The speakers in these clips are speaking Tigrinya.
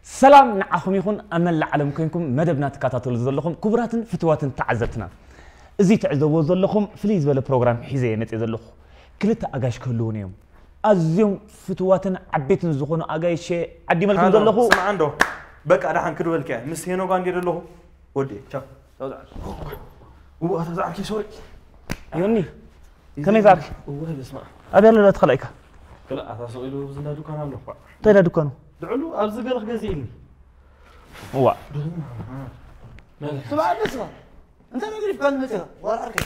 ሰላም ንዓኹም ይኹን፣ ኣብ መላእ ዓለም ኮይንኩም መደብና ትከታተሉ ዘለኹም ክቡራትን ፍትዋትን ተዓዘብትና። እዚ ትዕዘብዎ ዘለኹም ፍልይ ዝበለ ፕሮግራም ሒዘ እየ መፅየ ዘለኹ። ክልተ ኣጋይሽ ክህልዉን እዮም። ኣዝዮም ፍትዋትን ዓበይትን ዝኾኑ ኣጋይሽ እየ ዓዲመልኩም ዘለኹ። ስምዓ እንዶ፣ በቃ ደሓን ክድበልካ እየ። ምስ ሄኖጋ እንድየ ዘለኹ። ወዲ፣ ቻው። ቻው፣ ዝዓርከይ። እዋ፣ ኣታ ዝዓርከይ፣ ሶሪ። ዮኒ፣ ከመይ ዝዓርከይ? እዋ፣ በስመ ኣብ። ኣበይ ኣሎ እቲ ካልኣይካ? ክላ፣ ኣታ ስቕ ኢሉ ኣብዚ እንዳ ዱካን ኣሎ እኳ። እንታይ እንዳ ዱካኑ? ድዕሉ ኣብዚ ገለ ክገዝእ ኢልኒ። እዋ። ስምዓ፣ ንስኻ እንታይ ነገር ይፍካል መጽኻ? ዋላ ዓርከይ።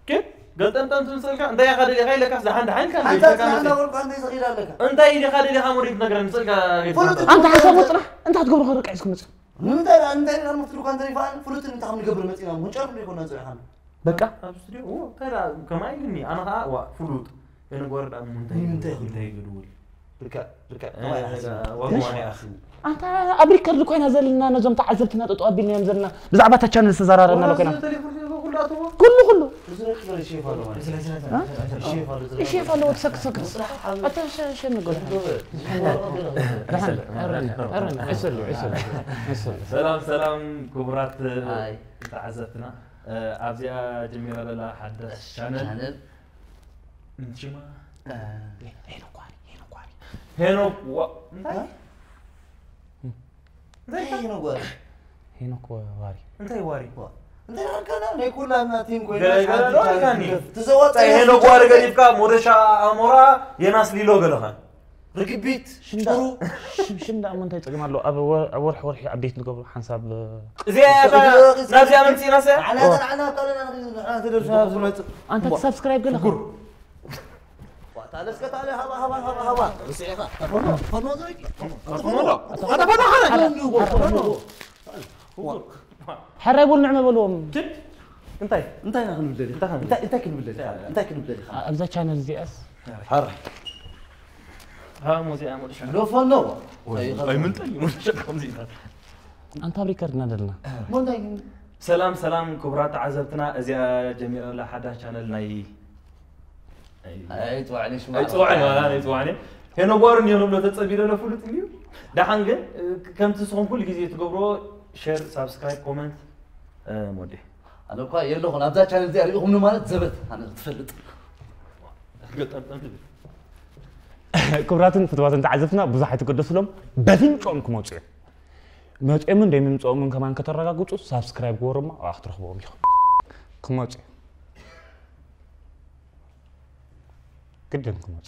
ኬት? ገልጠምጠም ትምሰልካ? እንታይ ኢኻ ደሊኻ ኢለካስ ደሓን ደሓን ኢልካ ሓንታ ደሊኻ ጽናሕ መጽኻ? እንዳበልኩ ኣንተ ይዘኺድ ኣለካ። እንታይ ኢኻ ደሊኻ ሞዴል ትነግረኒ? ስልካ ጌትካ ፍሉጥ ኣለካ። እንታይ ኢኻ ደሊኻ ሞዴል ትነግረኒ? ስልካ ጌትካ መጽኻ? እንታይ ደኣ፣ እንታይ ደኣ መፍትሩ ካን ተሪፋን ፍሉጥ እንታይ ከም ንገብር መጺና፣ ምንጨር እንደ ይኮና ጽሪኻን። በቃ። ኣብ ስቱዲዮ፣ ኦ፣ እንታይ ደኣ፣ ከማይ ኢልኒ፣ ኣነ ኸኣ፣ ዋ፣ ፍሉጥ። የነጓር ደኣ፣ ምንታይ ንምንታይ ይብል? እንታይ ይገድውል? ብርካ፣ ብርካ፣ እ፣ ከማይ ደኣ፣ ይሓስብ። ዋ፣ ምሽ? ከማይ ይሓስብ። ኣንታ ኣብ ሪከርድ ኮይና ዘለና፣ ነዞም ተዓዘብትና ጠጠው ኣቢልናዮም ዘለና፣ ብዛዕባ እታ ቻነል ዝተዘራረብና ዋላ ኮይና። እዚ ቴሌፎን ቴሌፎን ኩሉ ኣትዎ? ኩሉ፣ ኩሉ። እዚ ሬክ ዝበለ ሼፍ ኣሎ ማለት እዩ። እ? ሼፍ ኣሎ፣ ሼፍ ኣለዎ፣ ትሰክት፣ ትሰክት። ኣታ ሸ-፣ ሸ-፣ ንገር። ደሓን፣ ደሓን፣ ኣረኒ፣ ኣረኒ፣ ዕሰሉ፣ ዕሰሉ፣ ዕሰሉ። ሰላም፣ ሰላም፣ ክቡራት ሃይ። ተዓዘብትና። እ፣ ኣብዚኣ ጀሚራ ዘላ ሓዳስ ቻነል። ቻነል። ሽማ? እ፣ ሄኖክ ዋሪ፣ ሄኖክ ዋሪ። ሄኖክ ዋ-፣ እንታይ? እ? እንታይ እንታይ ኢልካ? ሄኖክ ዋሪ? ሄኖክ ዋሪ። እንታይ ዋሪ? ዋ፣ እንታይ ኣልካና? ናይ ኩላና ቲም ኮይና ገለ፣ ገለ ሓንቲ ዶ ኣልካኒ? ቻለንጅ ትዘዋወር እንታይ ሄኖክ ዋሪ ገዲፍካ ሞደሻ ኣሞራ የናስ ሊሎ ገለኻ? ርግቢት፣ ሽም ሽም፣ ሽም ደኣ እሞ እንታይ ጸገም ኣለዎ? ኣብ ወር-፣ ኣብ ወርሒ ወርሒ ኣፕዴት ንገብሮ ሓንሳብ፣ እ፣ እዚኣ እያ እታ ናብዚኣ መምጺእና ሰ? ንሕና፣ ንሕና፣ ንሕና ተደርፍና ዝመጽእ። ኣንታ ትሳብስክራይብ ገለኻ? ሽጉር። ዋታ ለስከ ታለ ሃባ፣ ሃባ፣ ሃባ፣ ሃባ። ርስዒኻ። ተፈኖ፣ ተፈኖ ዘይኪ። ተፈኖ ዶ? ተፈኖ፣ ተፈኖ፣ ተፈኖ። ሕራይ በሉ ንዕመ በልዎም። ችድ? እንታይ? እንታይ ኢና ክንብል ደሊኻ? እንታይ ክንብል? እንታይ፣ እንታይ ክንብል ደሊኻ? እንታይ ክንብል ደሊኻ? ኣ-፣ ኣብዛ ቻነል እዚኣስ? ሕራይ። ሃ፣ ሙዚቃ ሙሉሻ። ዶ ፈኖ? ኣይምንጠል ሙሉሻ ከምዚ ኢኻ። ኣንታ ኣብ ሪከርድ ኢና ዘለና። ሞ እንታይ ግን? ሰላም፣ ሰላም ክቡራት ተዓዘብትና፣ እዚኣ ጀሚራ ዘላ ሓዳሽ ቻነል ናይ ኣይጽዋዕኒ ሽማ። ኣይጽዋዕኒ፣ ዋላ ኣይጽዋዕኒ። ሄኖ ጓሩ እንዲዮ ንብሎ ተጸቢለ ለ ፍሉጥ እንዲዩ። ደሓን ግን፣ እ፣ ከምቲ ንስኹም ኩሉ ግዜ ትገብሮ፣ ሼር፣ ሳብስክራይብ፣ ኮመንት፣ እ፣ ሞዴ። ኣነ እኳ የለኹን ኣብዛ ቻነል እዚኣ ሪኢኹምኒ ማለት ዘበት ኣነ ክትፈልጥ። ገጠምጠም ትብል። ክቡራትን ፍትዋትን ተዓዘብትና ብዙሕ ኣይትገደሱሎም፣ በፍንጮም ክመጹ እዮም። መጺኦምን ደይምምጽኦምን ከማን ከተረጋግጹ ሳብስክራይብ ግበሩ እሞ ኣብኣ ክትረኽብዎም ኢኹም። ክመጹ እዮም። ግድን ክመጹ።